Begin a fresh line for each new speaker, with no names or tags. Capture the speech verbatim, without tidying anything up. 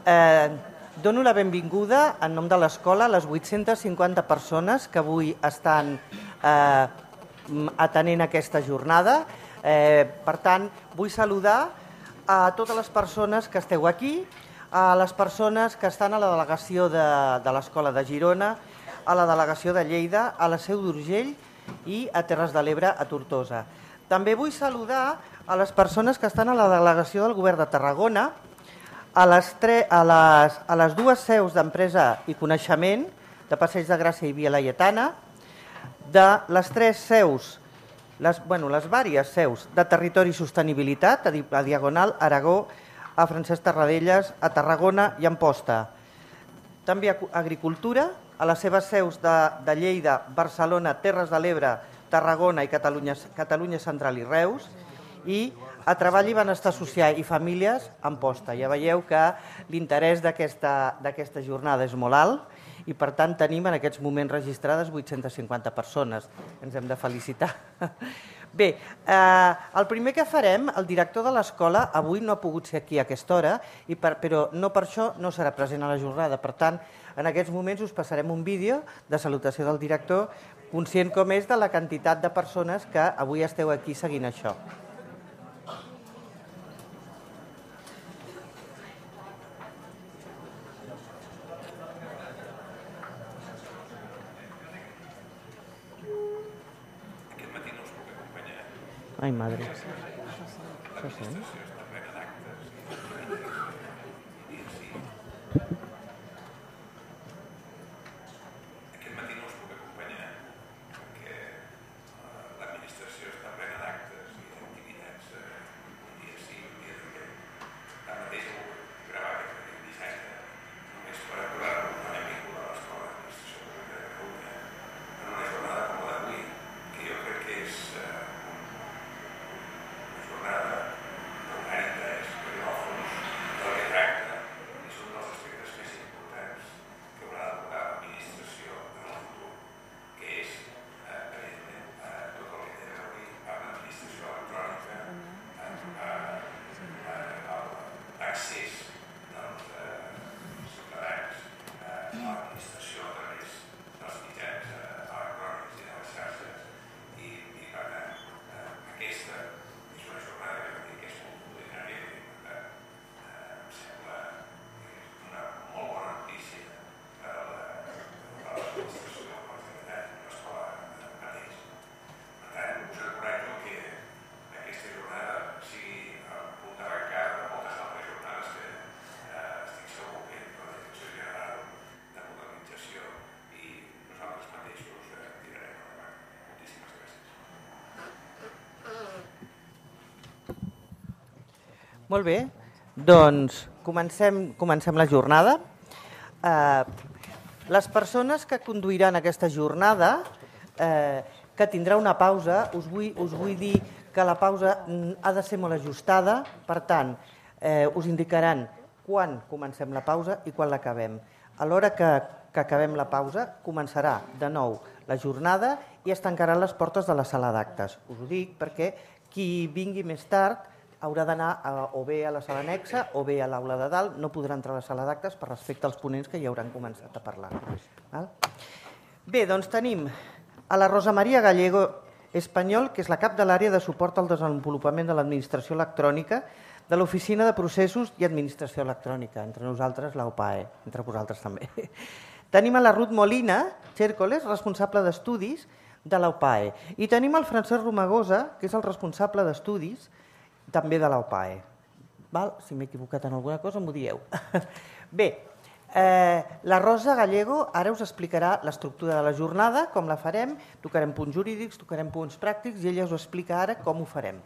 Eh, dono la benvinguda en nom de l'escola a les vuit-centes cinquanta persones que avui estan eh, atenent aquesta jornada. Eh, per tant, vull saludar a totes les persones que esteu aquí, a les persones que estan a la delegació de, de l'Escola de Girona, a la delegació de Lleida, a la Seu d'Urgell i a Terres de l'Ebre, a Tortosa. També vull saludar a les persones que estan a la delegació del Govern de Tarragona, a les, tre, a les, a les dues seus d'Empresa i Coneixement, de Passeig de Gràcia i Via Laietana, de les tres seus, les, bueno, les vàries seus de Territori i Sostenibilitat, a, a Diagonal, Aragó, a Francesc Tarradellas, a Tarragona i Amposta. També a Agricultura, a les seves seus de, de Lleida, Barcelona, Terres de l'Ebre, Tarragona i Catalunya, Catalunya Central i Reus, i a Treball i Benestar Social i Famílies, Amposta. Ja veieu que l'interès d'aquesta jornada és molt alt i, per tant, tenim en aquests moments registrades vuit-centes cinquanta persones. Ens hem de felicitar. Bé, eh, el primer que farem, el director de l'escola avui no ha pogut ser aquí a aquesta hora, i per, però no per això no serà present a la jornada. Per tant, en aquests moments us passarem un vídeo de salutació del director, conscient com és de la quantitat de persones que avui esteu aquí seguint això. Ai, madre. Això sent?
Aquest matí no us puc acompanyar perquè l'administració està plena d'actes i d'activitats un dia sí, un dia també. Tanmateix he volgut gravar aquest petit missatge només per aturar-lo una benvinguda a l'Escola d'Administració Pública de Catalunya en una jornada com la d'avui, que jo crec que és jornada d'un gran interès, perquè en el fons del que tracta és un dels aspectes més importants que haurà d'abordar l'administració en el futur, que és, evidentment, tot el que té a veure amb l'administració electrònica, l'accés dels ciutadans a l'administració a través dels mitjans electrònics i de les xarxes i, per tant, aquesta és una jornada que crec que és multitudinària i, per tant, em sembla una molt bona notícia per a l'administració de la Generalitat i l'escola mateix. Per tant, us encoratjo que aquesta jornada sigui el punt d'arrencada de moltes altres jornades que estic segur que la Direcció General de Modernització i nosaltres mateixos tirarem endavant. Moltíssimes gràcies.
Molt bé, doncs comencem, comencem la jornada. Eh, les persones que conduiran aquesta jornada, eh, que tindrà una pausa, us vull, us vull dir que la pausa ha de ser molt ajustada, per tant, eh, us indicaran quan comencem la pausa i quan l'acabem. A l'hora que, que acabem la pausa, començarà de nou la jornada i es tancaran les portes de la sala d'actes. Us ho dic perquè qui vingui més tard haurà d'anar o bé a la sala anexa o bé a l'aula de dalt, no podrà entrar a la sala d'actes per respecte als ponents que ja hauran començat a parlar. Bé, doncs tenim a la Rosa Maria Gallego Espanyol, que és la cap de l'àrea de suport al desenvolupament de l'administració electrònica de l'Oficina de Processos i Administració Electrònica, entre nosaltres la O P A E, entre vosaltres també. Tenim a la Ruth Molina Chércoles, responsable d'estudis de la O P A E, i tenim el Francesc Romagosa, que és el responsable d'estudis també de la O P A E. Val? Si m'he equivocat en alguna cosa, m'ho dieu. Bé, eh, la Rosa Gallego ara us explicarà l'estructura de la jornada, com la farem, tocarem punts jurídics, tocarem punts pràctics i ella us explica ara com ho farem.